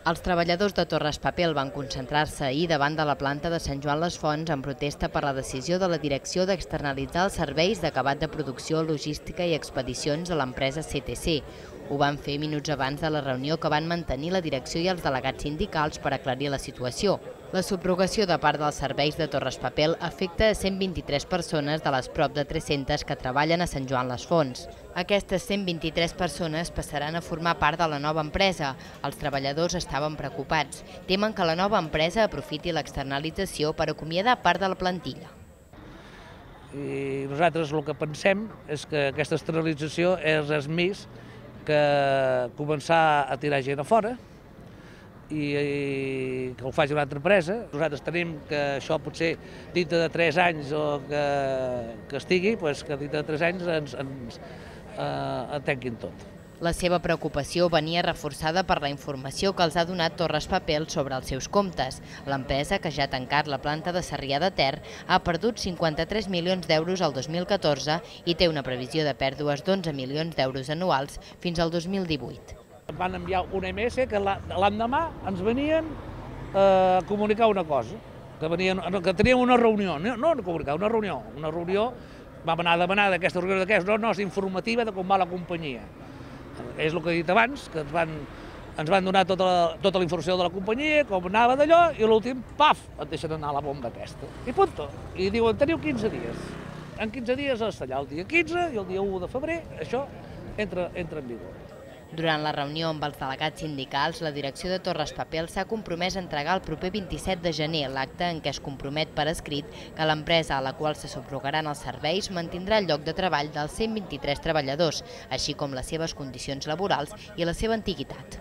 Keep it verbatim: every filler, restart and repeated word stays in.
Els treballadors de Torres Papel van concentrar-se ahir davant de la planta de Sant Joan les Fonts en protesta per la decisió de la direcció d'externalitzar els serveis d'acabat de producció, logística i expedicions de l'empresa C T C. Ho van fer minuts abans de la reunió que van mantenir la direcció i els delegats sindicals per aclarir la situació. La subrogació de part dels serveis de Torres Papel afecta a cent vint-i-tres persones de les prop de tres-centes que treballen a Sant Joan les Fonts. Aquestes cent vint-i-tres persones passaran a formar part de la nova empresa. Els treballadors estaven preocupats. Temen que la nova empresa aprofiti l'externalització per acomiadar part de la plantilla. I nosaltres el que pensem és que aquesta externalització és res més que començar a tirar gent a fora i que ho faci una altra empresa. Nosaltres tenim que això potser dintre de tres anys o que, que estigui, doncs que dintre de tres anys ens, ens eh, tanquin tot. La seva preocupació venia reforçada per la informació que els ha donat Torres Papel sobre els seus comptes. L'empresa, que ja ha tancat la planta de Sarrià de Ter, ha perdut cinquanta-tres milions d'euros el dos mil catorze i té una previsió de pèrdues d'onze milions d'euros anuals fins al dos mil divuit. Van enviar un eme esse que l'endemà ens venien a comunicar una cosa, que, venien, que teníem una reunió, no, no comunicar, una reunió, una reunió, vam anar a demanar d'aquesta reunió d'aquesta, no, no, és informativa de com va la companyia. És el que he dit abans, que ens van, ens van donar tota la, tota la informació de la companyia, com anava d'allò, i l'últim, paf, et deixen anar la bomba aquesta. I punto. I diuen, teniu quinze dies. En quinze dies has d'allà el dia quinze i el dia u de febrer, això entra, entra en vigor. Durant la reunió amb els delegats sindicals, la direcció de Torres Papel s'ha compromès a entregar el proper vint-i-set de gener l'acte en què es compromet per escrit que l'empresa a la qual se subrogaran els serveis mantindrà el lloc de treball dels cent vint-i-tres treballadors, així com les seves condicions laborals i la seva antiguitat.